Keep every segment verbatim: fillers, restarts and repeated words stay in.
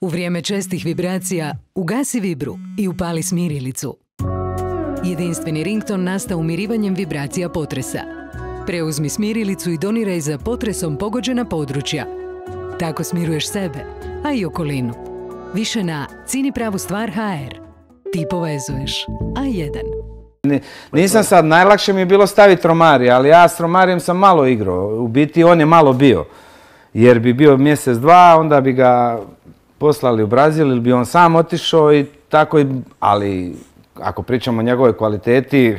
U vrijeme čestih vibracija ugasi vibru i upali smirilicu. Jedinstveni rington nastao umirivanjem vibracija potresa. Preuzmi smirilicu i doniraj za potresom pogođena područja. Tako smiruješ sebe, a i okolinu. Više na cini pravu stvar ha er. Ti povezuješ. A jedan. Nisam sad, najlakše mi je bilo staviti Romarija, ali ja s Romarijem sam malo igrao. U biti on je malo bio. Jer bi bio mjesec, dva, onda bi ga poslali u Brazil ili bi on sam otišao i tako, ali ako pričamo o njegovoj kvaliteti,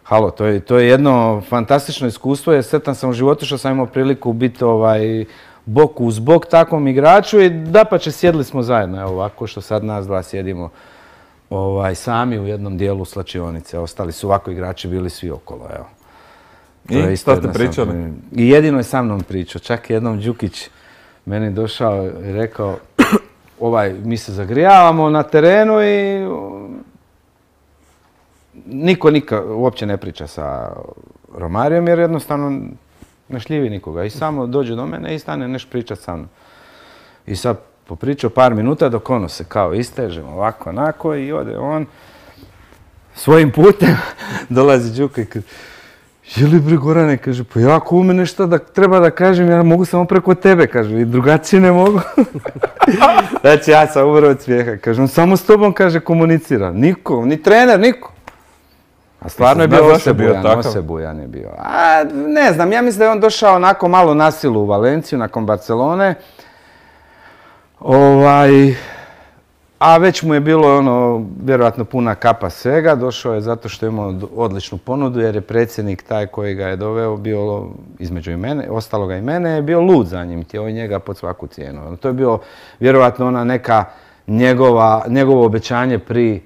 halo, to je, to je jedno fantastično iskustvo, jer sretan sam u životu što sam imao priliku biti ovaj, bok uz bok takvom igraču i dapače sjedli smo zajedno, evo ovako što sad nas dva sjedimo ovaj, sami u jednom dijelu slačionice, ostali su ovako igrači bili svi okolo, evo. I što ste pričali? I jedino je sa mnom pričao, čak jednom Đukić meni došao i rekao, ovaj, mi se zagrijavamo na terenu i niko nikad uopće ne priča sa Romarijom jer jednostavno ne šljivi nikoga i samo dođe do mene i stane neš pričat sa mnom. I sad popričao par minuta dok ono se kao istežemo ovako onako i ode on svojim putem dolazi Đuka i kaže, jeli bre Gorane, kaže, pa ja ako u mene šta da treba da kažem, ja mogu samo preko tebe, kaže, i drugačije ne mogu. Znači ja sam umro od smijeha, kaže, on samo s tobom, kaže, komunicira, niko, ni trener, niko. A stvarno je bio osebujan, osebujan je bio. A ne znam, ja mislim da je on došao onako malo na silu u Valenciju, nakon Barcelone. Ovaj... A već mu je bilo ono, vjerojatno puna kapa svega, došao je zato što je imao odličnu ponudu jer je predsjednik taj koji ga je doveo bio između i mene, ostaloga i mene, je bio lud za njim, htio je njega pod svaku cijenu. To je bilo vjerojatno ona neka njegova, njegovo obećanje pri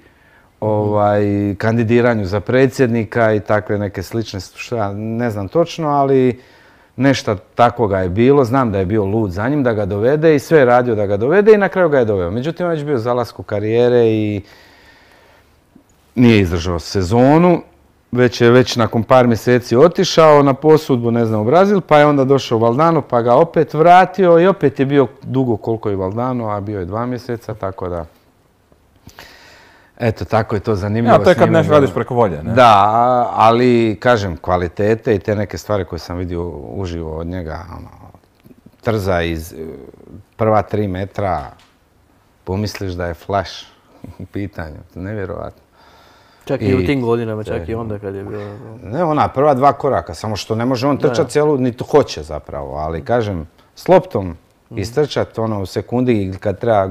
ovaj, kandidiranju za predsjednika i takve neke slične, što ja ne znam točno, ali nešto takvoga je bilo, znam da je bio lud za njim, da ga dovede i sve je radio da ga dovede i na kraju ga je doveo. Međutim, on je već bio zalasku karijere i nije izdržao sezonu, već je već nakon par mjeseci otišao na posudbu, ne znam, u Brazil, pa je onda došao u Valdano, pa ga opet vratio i opet je bio dugo koliko je Valdano, a bio je dva mjeseca, tako da... Eto, tako je to zanimljivo. Ja, to je kad nešto radiš preko volje, ne? Da, ali, kažem, kvalitete i te neke stvari koje sam vidio uživo od njega, ono, trza iz prva tri metra, pomisliš da je flash u pitanju, nevjerovatno. Čak i, i u tim godinama, čak i onda kad je bilo... Ne, ona, prva dva koraka, samo što ne može on trčati cijelu, niti hoće zapravo, ali, kažem, s loptom mm. istrčati, ono, u sekundi kad treba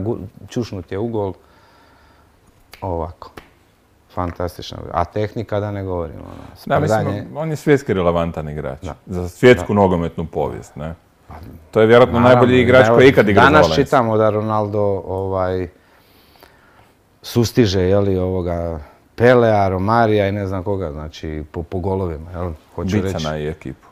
čušnuti je u gol, ovako. Fantastično. A tehnika da ne govorim. Da, mislim, on je svjetski relevantan igrač. Za svjetsku nogometnu povijest, ne? To je vjerojatno najbolji igrač koji je ikad igrao za Valenciju. Danas čitamo da Ronaldo sustiže, jeli, ovoga Pelea, Romarija i ne znam koga, znači po golovima, jel? Bicana i ekipu.